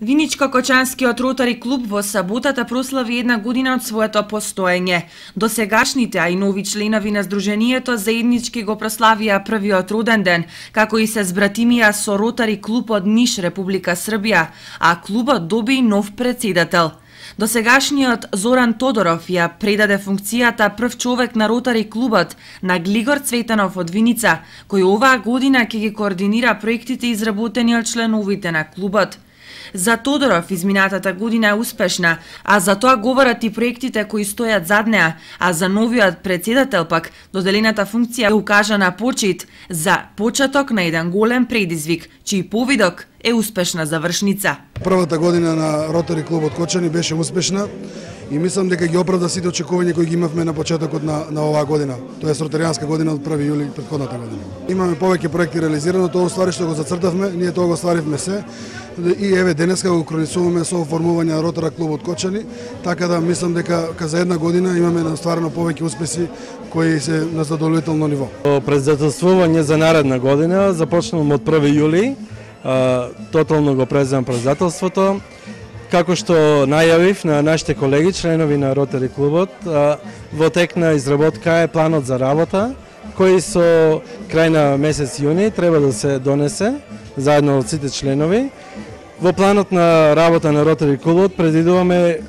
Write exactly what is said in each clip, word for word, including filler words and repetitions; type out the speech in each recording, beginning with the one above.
Виничко-Кочанскиот ротари клуб во саботата прослави една година од своето постоење. Досегашните, а и нови членови на Сдруженијето заеднички го прославија првиот роден ден, како и се збратимија со ротари клуб од Ниш, Република Србија, а клубот доби нов председател. Досегашниот Зоран Тодоров ја предаде функцијата прв човек на ротари клубот на Глигор Цветанов од Виница, кој оваа година ќе ги координира проектите изработени од членовите на клубот. За Тодоров изминатата година е успешна, а за тоа говорат и проектите кои стојат зад неа, а за новиот председател пак доделената функција е укажана почит за почеток на еден голем предизвик, чиј повидок е успешна завршница. Првата година на Ротари клубот Кочани беше успешна и мислам дека ги оправда сите очекувања кои ги имавме на почетокот на, на оваа година. Тоа е ротаријанска година од први јули претходната година. Имаме повеќе проекти реализирано, тоа ствари што го зацртавме, ние тоа го стваривме се. И еве денеска го кронисуваме со оформување на Ротара клубот Кочани, така да мислам дека за една година имаме настварено повеќе успеси кои се на задоволително ниво. Председателствување за наредна година започнуваме од први јули, тотално го преземам председателството. Како што најавив на нашите колеги, членови на Ротари клубот, во тек на изработка е планот за работа, кој со крај на месец јуни треба да се донесе заедно од сите членови. Во планот на работа на Ротари клубот предвидуваме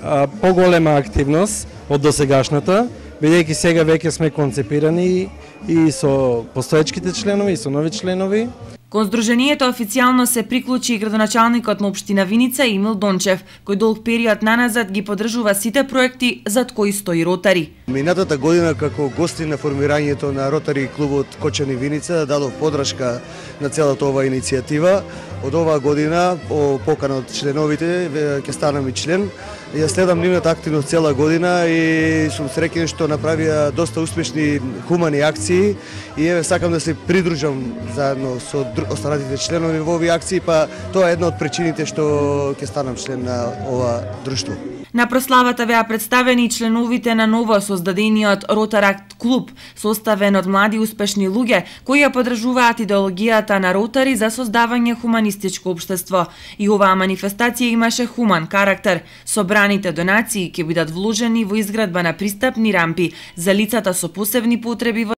поголема активност од досегашната, бидејќи сега веќе сме концепирани и со постоечките членови и со нови членови. Кон Сдруженијето официјално се приклучи и градоначалникот на општина Виница Емил Дончев, кој долг период наназад ги поддржува сите проекти зад кои стои Ротари. Минатата година како гости на формирањето на Ротари клубот Кочани Виница дадов подршка на целата оваа иницијатива. Од оваа година, по покана од членовите, ќе станам и член. Ја следам нивната активност цела година и сум среќен што направија доста успешни хумани акции и еве сакам да се придружам заедно со останатите членови во овие акции, па тоа е една од причините што ќе станам член на ова друштво. На прославата беа представени и членовите на ново создадениот Ротаракт клуб, составен од млади успешни луѓе кои ја поддржуваат идеологијата на Ротари за создавање хуманистичко општество. И оваа манифестација имаше хуман карактер. Собраните донации ќе бидат вложени во изградба на пристапни рампи за лицата со посебни потреби во